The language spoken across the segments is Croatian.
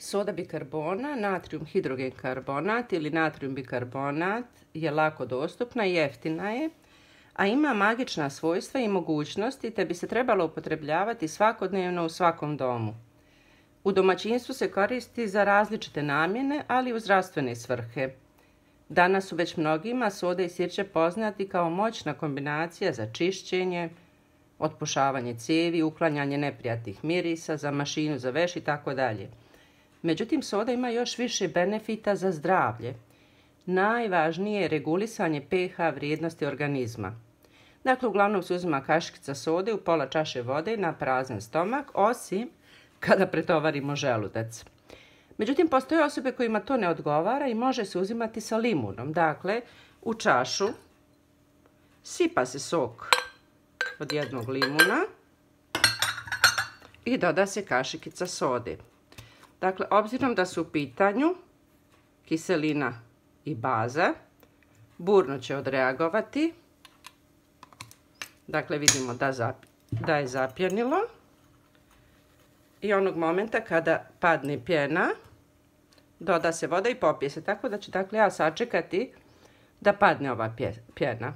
Soda bikarbona, natrium hidrogen karbonat ili natrium bikarbonat je lako dostupna i jeftina je, a ima magična svojstva i mogućnosti te bi se trebalo upotrebljavati svakodnevno u svakom domu. U domaćinstvu se koristi za različite namjene, ali i u zdravstvene svrhe. Danas su već mnogima soda i sirće poznati kao moćna kombinacija za čišćenje, otpušavanje cijevi, uklanjanje neprijatnih mirisa, za mašinu za veš i tako dalje. Međutim, soda ima još više benefita za zdravlje. Najvažnije je regulisanje pH vrijednosti organizma. Dakle, uglavnom se uzima kašikica sode u pola čaše vode na prazan stomak, osim kada pretovarimo želudac. Međutim, postoje osobe kojima to ne odgovara i može se uzimati sa limunom. Dakle, u čašu sipa se sok od jednog limuna i doda se kašikica sode. Dakle, obzirom da su u pitanju kiselina i baza, burno će odreagovati. Dakle, vidimo da je zapjenilo. I onog momenta kada padne pjena, doda se voda i popije se. Tako da ću ja sačekati da padne ova pjena.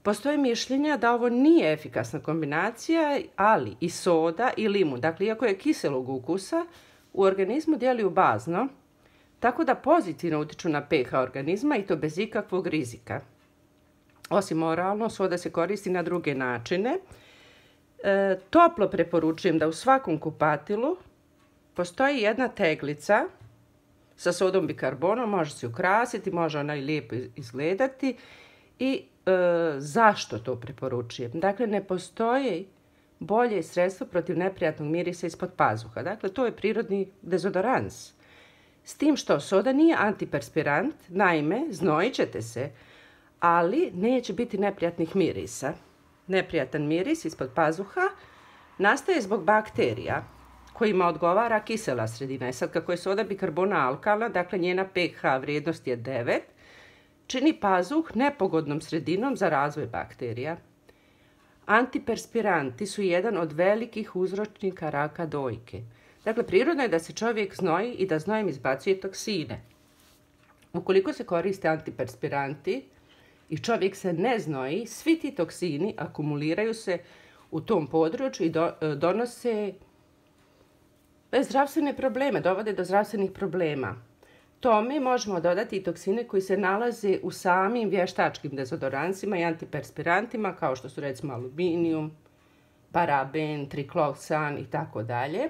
Postoje mišljenja da ovo nije efikasna kombinacija, ali i soda i limun, dakle, iako je kiselog ukusa, u organizmu djeluju bazno, tako da pozitivno utiču na pH organizma i to bez ikakvog rizika. Osim oralno, soda se koristi na druge načine. Toplo preporučujem da u svakom kupatilu postoji jedna teglica sa sodom bikarbonom, može se ukrasiti, može ona i lijepo izgledati. I zašto to preporučujem? Dakle, ne postoji bolje sredstvo protiv neprijatnog mirisa ispod pazuha. Dakle, to je prirodni dezodorans. S tim što soda nije antiperspirant, naime, znojit ćete se, ali neće biti neprijatnih mirisa. Neprijatan miris ispod pazuha nastaje zbog bakterija kojima odgovara kisela sredina. Sad, kako je soda bikarbona alkalna, dakle njena pH vrijednost je 9, čini pazuh nepogodnom sredinom za razvoj bakterija. Antiperspiranti su jedan od velikih uzročnika raka dojke. Dakle, prirodno je da se čovjek znoji i da znojem izbacuje toksine. Ukoliko se koriste antiperspiranti i čovjek se ne znoji, svi ti toksini akumuliraju se u tom području i donose zdravstvene probleme, dovode do zdravstvenih problema. Tome možemo dodati i toksine koji se nalaze u samim vještačkim dezodoransima i antiperspirantima, kao što su recimo aluminijum, paraben, triklosan i tako dalje.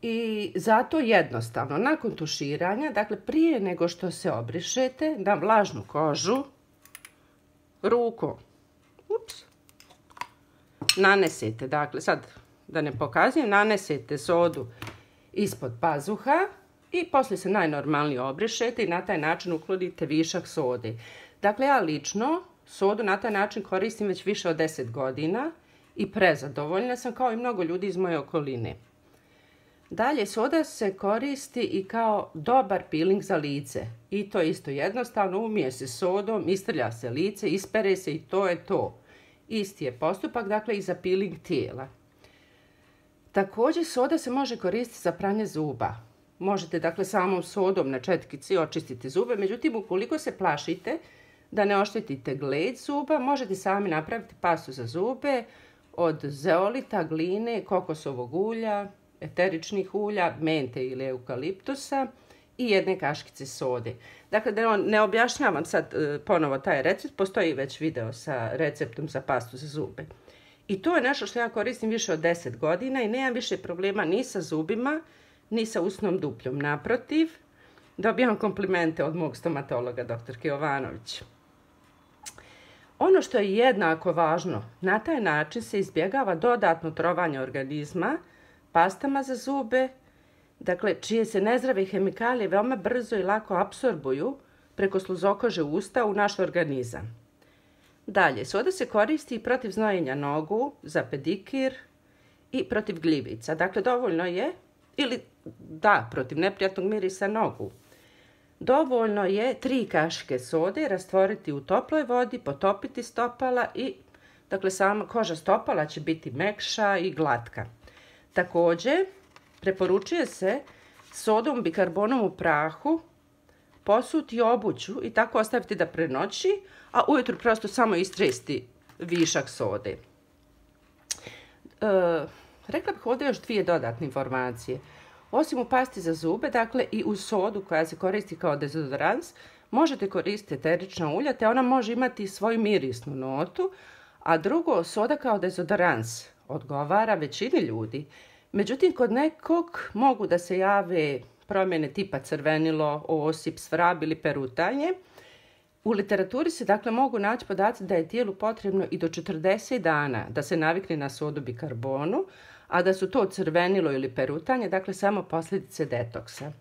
I zato jednostavno, nakon tuširanja, dakle prije nego što se obrišete na vlažnu kožu, rukom, nanesete, dakle sad da ne pokazujem, nanesete sodu ispod pazuha i poslije se najnormalnije obrišete i na taj način uklonite višak sode. Dakle, ja lično sodu na taj način koristim već više od 10 godina i prezadovoljna sam, kao i mnogo ljudi iz moje okoline. Dalje, soda se koristi i kao dobar peeling za lice. I to je isto jednostavno, umije se sodom, istrlja se lice, ispere se i to je to. Isti je postupak, dakle, i za peeling tijela. Također, soda se može koristiti za pranje zuba. Možete, dakle, samom sodom na četkici očistiti zube, međutim, ukoliko se plašite da ne oštetite gled zuba, možete sami napraviti pastu za zube od zeolita, gline, kokosovog ulja, eteričnih ulja, mente ili eukaliptusa i jedne kaškice sode. Dakle, da ne objašnjavam sad ponovo taj recept, postoji već video sa receptom za pastu za zube. I to je nešto što ja koristim više od 10 godina i nemam više problema ni sa zubima, ni sa usnom dupljom. Naprotiv, dobijam komplimente od mog stomatologa, doktorke Jovanović. Ono što je jednako važno, na taj način se izbjegava dodatno trovanje organizma pastama za zube, dakle, čije se nezdrave hemikalije veoma brzo i lako apsorbuju preko sluzokože usta u naš organizam. Dalje, soda se koristi i protiv znojenja nogu, za pedikir i protiv gljivica. Dakle, dovoljno je, protiv neprijatnog mirisa nogu. Dovoljno je 3 kašike sode rastvoriti u toploj vodi, potopiti stopala i, dakle, sama koža stopala će biti mekša i glatka. Također, Preporučuje se sodom bikarbonom u prahu posuti obuću i tako ostaviti da prenoći, a ujutro prosto samo istresti višak sode. Rekla bih ovdje još dvije dodatne informacije. Osim u pasti za zube, dakle i u sodu koja se koristi kao dezodorans, možete koristiti eterična ulja, te ona može imati svoju mirisnu notu, a drugo, soda kao dezodorans odgovara većini ljudi. Međutim, kod nekog mogu da se jave promjene tipa crvenilo, osip, svrab ili perutanje. U literaturi se dakle mogu naći podaci da je tijelu potrebno i do 40 dana da se navikne na sodu bikarbonu, a da su to crvenilo ili perutanje, dakle samo posljedice detoksa.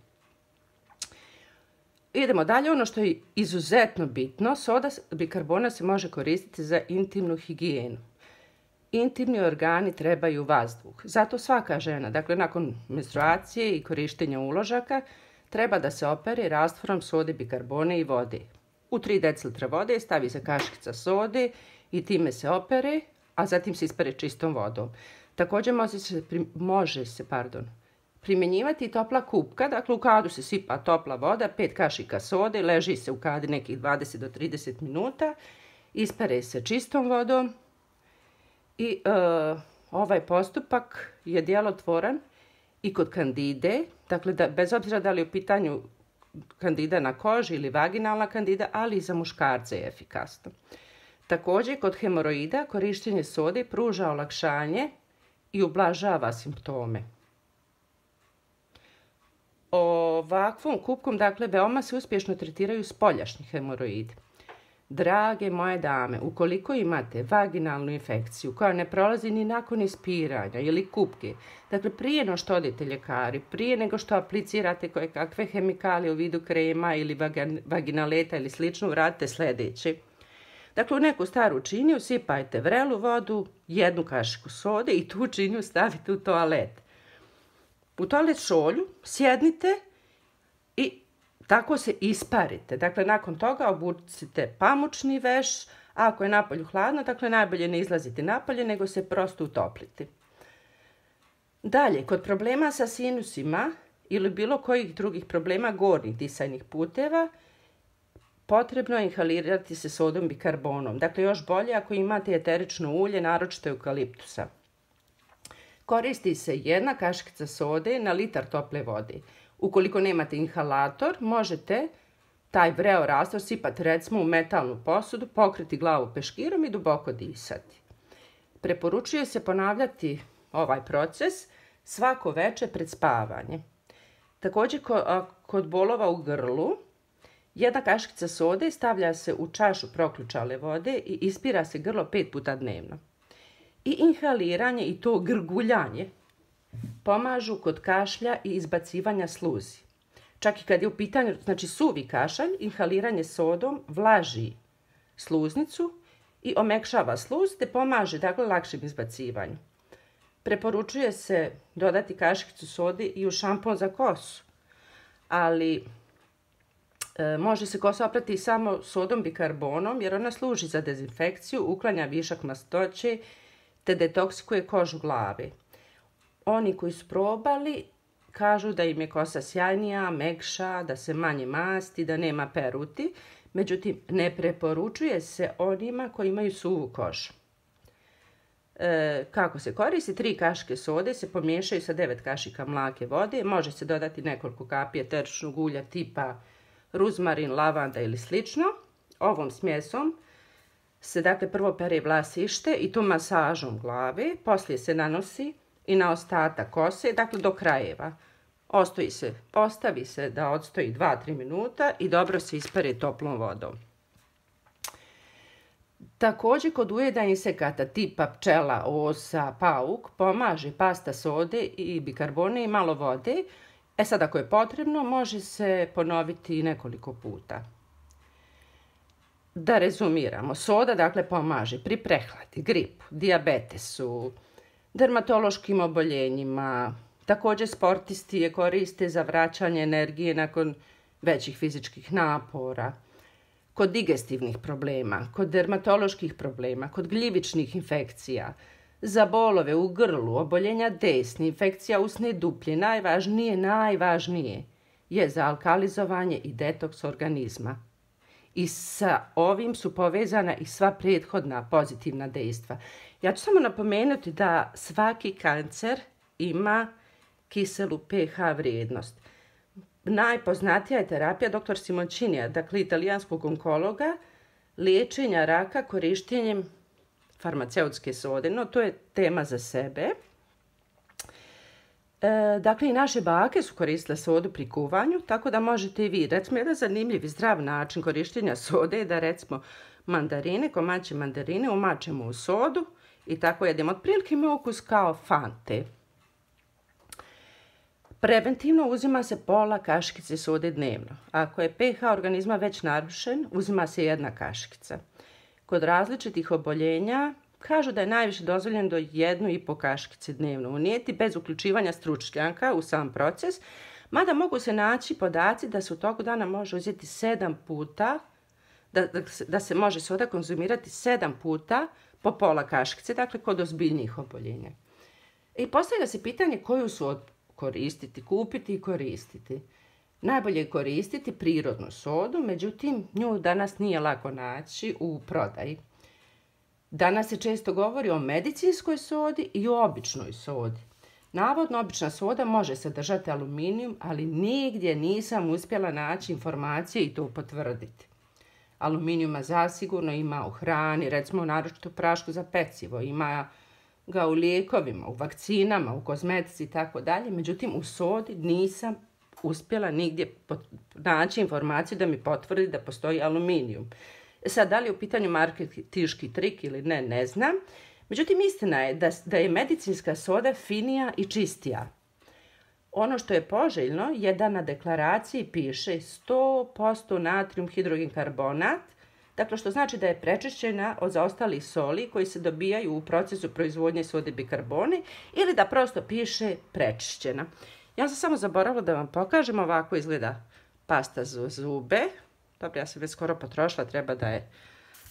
Idemo dalje, ono što je izuzetno bitno, soda bikarbona se može koristiti za intimnu higijenu. Intimni organi trebaju vazduh. Zato svaka žena, dakle nakon menstruacije i korištenja uložaka, treba da se opere rastvorom sode bikarbone i vode. U 3 decilitra vode stavi se kašikica sode i time se opere, a zatim se ispere čistom vodom. Također može se primjenjivati i topla kupka, dakle u kadu se sipa topla voda, 5 kašika sode, leži se u kadi nekih 20 do 30 minuta, ispere se čistom vodom i ovaj postupak je djelotvoran i kod kandide, dakle bez obzira da li je u pitanju kandida na koži ili vaginalna kandida, ali i za muškarce je efikasno. Također kod hemoroida korištenje sode pruža olakšanje i ublažava simptome. Ovakvom kupkom, dakle, veoma se uspješno tretiraju spoljašnji hemoroidi. Drage moje dame, ukoliko imate vaginalnu infekciju koja ne prolazi ni nakon ispiranja ili kupke, dakle prije no što odete ljekari, prije nego što aplicirate koje kakve hemikalije u vidu krema ili vaginaleta ili slično, uradite sljedeće. Dakle, u neku staru činiju sipajte vrelu vodu, 1 kašiku sode i tu činiju stavite u toalet. U toalet šolju sjednite i tako se isparite. Dakle, nakon toga obucite pamučni veš, a ako je napolju hladno, dakle najbolje ne izlaziti napolje, nego se prosto utopliti. Dalje, kod problema sa sinusima ili bilo kojih drugih problema gornjih disajnih puteva, potrebno je inhalirati se sodom bikarbonom. Dakle, još bolje ako imate eterično ulje, naročito eukaliptusa. Koristi se 1 kašikica sode na litar tople vode. Ukoliko nemate inhalator, možete taj vreo rastvor sipati recimo u metalnu posudu, pokriti glavu peškirom i duboko disati. Preporučuje se ponavljati ovaj proces svako večer pred spavanje. Također kod bolova u grlu, 1 kašikica sode stavlja se u čašu proključale vode i ispira se grlo 5 puta dnevno. I inhaliranje i to grguljanje pomažu kod kašlja i izbacivanja sluzi. Čak i kad je u pitanju, znači suvi kašalj, inhaliranje sodom vlaži sluznicu i omekšava sluz te pomaže dakle lakšem izbacivanju. Preporučuje se dodati kašikicu sode i u šampon za kosu, ali može se kosa oprati samo sodom bikarbonom jer ona služi za dezinfekciju, uklanja višak mastoće te detoksikuje kožu glave. Oni koji su probali kažu da im je kosa sjajnija, mekša, da se manje masti, da nema peruti. Međutim, ne preporučuje se onima koji imaju suvu kožu. Kako se koristi? 3 kašike sode se pomiješaju sa 9 kašika mlake vode. Može se dodati nekoliko kapi eteričnog ulja tipa ruzmarin, lavanda ili slično. Ovom smjesom se dakle prvo pere vlasište i to masažom glave, poslije se nanosi i na ostatak kose, dakle do krajeva. Ostavi se da odstoji 2-3 minuta i dobro se ispere toplom vodom. Također kod ujeda insekata tipa pčela, osa, pauk pomaže pasta sode i bikarbone i malo vode. Sad ako je potrebno može se ponoviti nekoliko puta. Da rezumiramo, soda dakle pomaže pri prehladi, gripu, dijabetesu, dermatološkim oboljenjima. Također sportisti je koriste za vraćanje energije nakon većih fizičkih napora, kod digestivnih problema, kod dermatoloških problema, kod gljivičnih infekcija. Za bolove u grlu, oboljenja desni, infekcija usne duplje, najvažnije je za alkalizovanje i detoks organizma. I sa ovim su povezana i sva prethodna pozitivna dejstva. Ja ću samo napomenuti da svaki kancer ima kiselu pH vrijednost. Najpoznatija je terapija dr. Simonchinija, dakle italijanskog onkologa, liječenja raka korištenjem farmaceutske sode, no to je tema za sebe. Dakle, i naše bake su koristile sodu pri kuvanju, tako da možete i vi. Recimo, jedan zanimljiv i zdrav način korištenja sode je da, recimo, komadiće mandarine umačemo u sodu i tako jedemo. Otprilike ima ukus kao Fante. Preventivno uzima se pola kaškice sode dnevno. Ako je pH organizma već narušen, uzima se 1 kaškica. Kod različitih oboljenja kažu da je najviše dozvoljeno do 1,5 kaškice dnevno unijeti bez uključivanja stručnjaka u sam proces, mada mogu se naći podaci da se u toku dana može uzeti 7 puta, da se može soda konzumirati 7 puta po pola kaškice, dakle kod ozbiljnijih oboljenja. I postavlja se pitanje koju sodu koristiti, kupiti i koristiti. Najbolje je koristiti prirodnu sodu, međutim nju danas nije lako naći u prodaji. Danas se često govori o medicinskoj sodi i o običnoj sodi. Navodno, obična soda može sadržati aluminijum, ali nigdje nisam uspjela naći informacije i to potvrditi. Aluminijuma zasigurno ima u hrani, recimo naročito u prašku za pecivo, ima ga u lijekovima, u vakcinama, u kozmetici i tako dalje. Međutim, u sodi nisam uspjela nigdje naći informaciju da mi potvrdi da postoji aluminijum. Sad, da li je u pitanju marketinški trik ili ne, ne znam. Međutim, istina je da je medicinska soda finija i čistija. Ono što je poželjno je da na deklaraciji piše 100% natrijum hidrogen karbonat, dakle što znači da je prečišćena od zaostalih soli koji se dobijaju u procesu proizvodnje sode bikarbone ili da prosto piše prečišćena. Ja sam samo zaboravila da vam pokažem, ovako izgleda pasta za zube. Dobro, ja sam već skoro potrošila, treba da je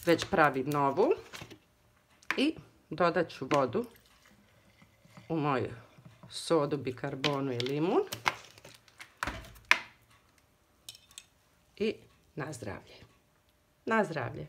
već pravim novu. I dodat ću vodu u moju sodu, bikarbonu i limun. I na zdravlje. Na zdravlje.